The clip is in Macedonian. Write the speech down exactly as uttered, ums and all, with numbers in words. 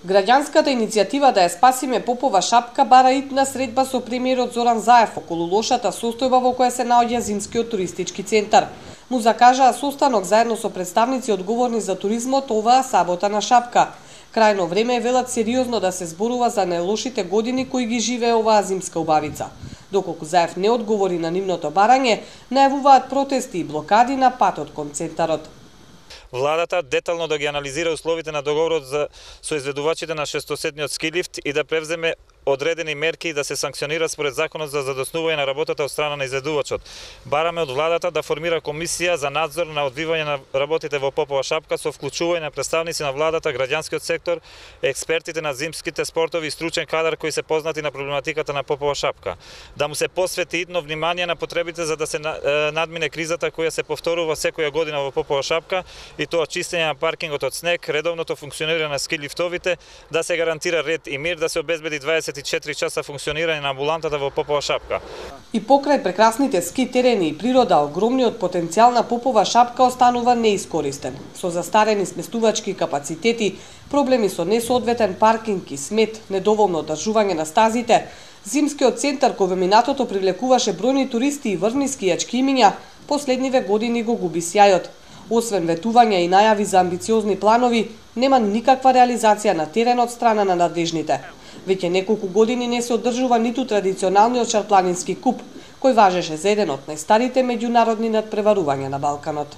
Граѓанската иницијатива да ја спасиме Попова шапка бара итна средба со премиерот Зоран Заев околу лошата состојба во која се наоѓа зимскиот туристички центар. Му закажаа состанок заедно со представници одговорни за туризмот оваа сабота на Шапка. Крајно време е, велат, сериозно да се зборува за најлошите години кои ги живее оваа зимска убавица. Доколку Заев не одговори на нивното барање, најавуваат протести и блокади на патот кон центарот. Владата детално да ги анализира условите на договорот за со изведувачите на шестосетниот ски лифт и да превземе одредени мерки и да се санкционира според законот за задоснување на работата од страна на изведувачот. Бараме од владата да формира комисија за надзор на одвивање на работите во Попова шапка со вклучување на представници на владата, граѓанскиот сектор, експертите на зимските спортови и стручен кадар кои се познати на проблематиката на Попова шапка. Да му се посвети идно внимание на потребите за да се надмине кризата која се повторува секоја година во Попова шапка, и тоа чистење на паркингот од снег, редовното функционирање на ски лифтовите, да се гарантира ред и мир, да се обезбеди дваесет и четири часа функционирање на амбулантата во Попова шапка. И покрај прекрасните ски терени и природа, огромниот потенцијал на Попова шапка останува неискористен. Со застарени сместувачки капацитети, проблеми со несоодветен паркинг и смет, недоволно одржување на стазите, зимскиот центар кој во минатото привлекуваше бројни туристи и врвни скијачки имиња, последниве години го губи сјајот. Освен ветувања и најави за амбициозни планови, нема никаква реализација на терен од страна на надлежните. Веќе неколку години не се одржува ниту традиционалниот шарпланински куп, кој важеше за еден од најстарите меѓународни надпреварувања на Балканот.